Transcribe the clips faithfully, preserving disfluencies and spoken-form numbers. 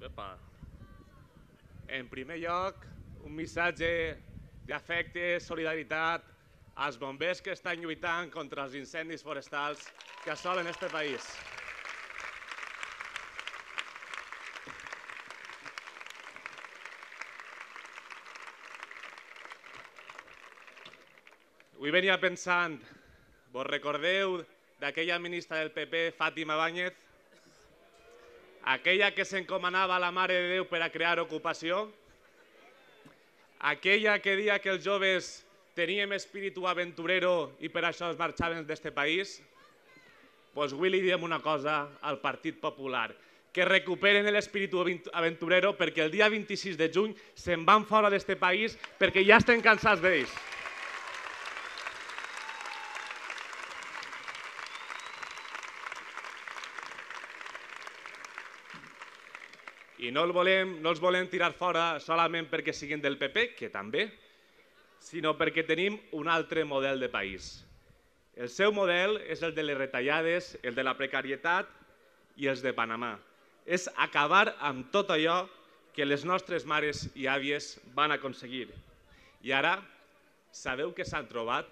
Epa. En primer lloc, un missatge d'afecte, solidaritat als bombers que estan lluitant contra els incendis forestals que assolen este país. Avui venia pensant, vos recordeu d'aquella ministra del P P, Fátima Báñez? Aquella que s'encomanava a la Mare de Déu per a crear ocupació? Aquella que deia que els joves teníem espíritu aventurero i per això es marxaven d'este país? Doncs avui li diem una cosa al Partit Popular, que recuperen l'espíritu aventurero perquè el dia vint-i-sis de juny se'n van fora d'este país perquè ja estem cansats d'ells. I no els volem, no els volem tirar fora solament perquè siguin del P P, que també, sinó perquè tenim un altre model de país. El seu model és el de les retallades, el de la precarietat i els de Panamà. És acabar amb tot allò que les nostres mares i àvies van aconseguir. I ara, sabeu què s'han trobat?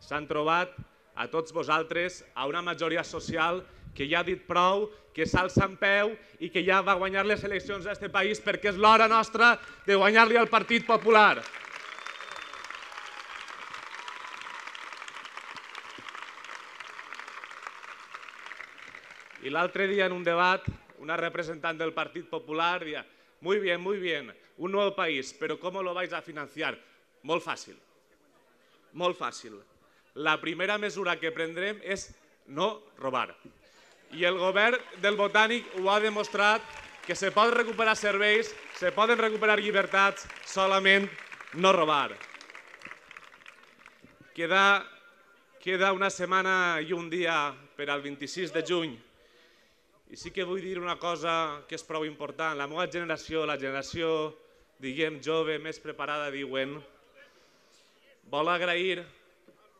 S'han trobat a tots vosaltres, a una majoria social que ja ha dit prou, que s'alça en peu i que ja va guanyar les eleccions a aquest país perquè és l'hora nostra de guanyar-li al Partit Popular. I l'altre dia en un debat, una representant del Partit Popular deia «Muy bien, muy bien, un nuevo país, pero ¿cómo lo vais a financiar?» Molt fàcil, molt fàcil. La primera mesura que prendrem és no robar. I el govern del Botànic ho ha demostrat que se poden recuperar serveis, se poden recuperar llibertats, solament no robar. Queda, queda una setmana i un dia per al vint-i-sis de juny. I sí que vull dir una cosa que és prou important. La meva generació, la generació, diguem, jove, més preparada, diuen, vol agrair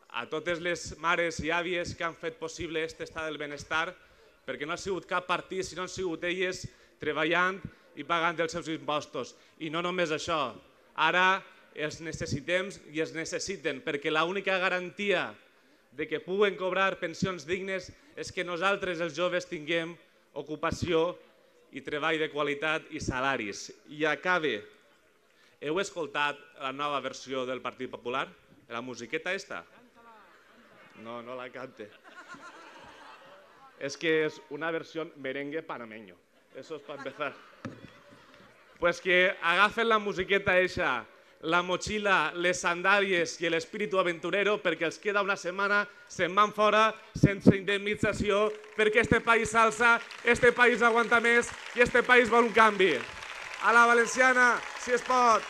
a totes les mares i àvies que han fet possible aquest estat del benestar, perquè no ha sigut cap partit, sinó han sigut elles treballant i pagant els seus impostos. I no només això, ara els necessitem i els necessiten, perquè l'única garantia de que puguen cobrar pensions dignes és que nosaltres, els joves, tinguem ocupació i treball de qualitat i salaris. I acabe. Heu escoltat la nova versió del Partit Popular? La musiqueta esta? No, no la cante. Es que es una versión merengue panameño. Eso es para empezar. Pues que agafen la musiqueta esa, la mochila, les sandàlies i l'espíritu aventurero perquè els queda una setmana, se'n van fora sense indemnització perquè este país s'alça, este país aguanta més i este país vol un canvi. A la valenciana, si es pot.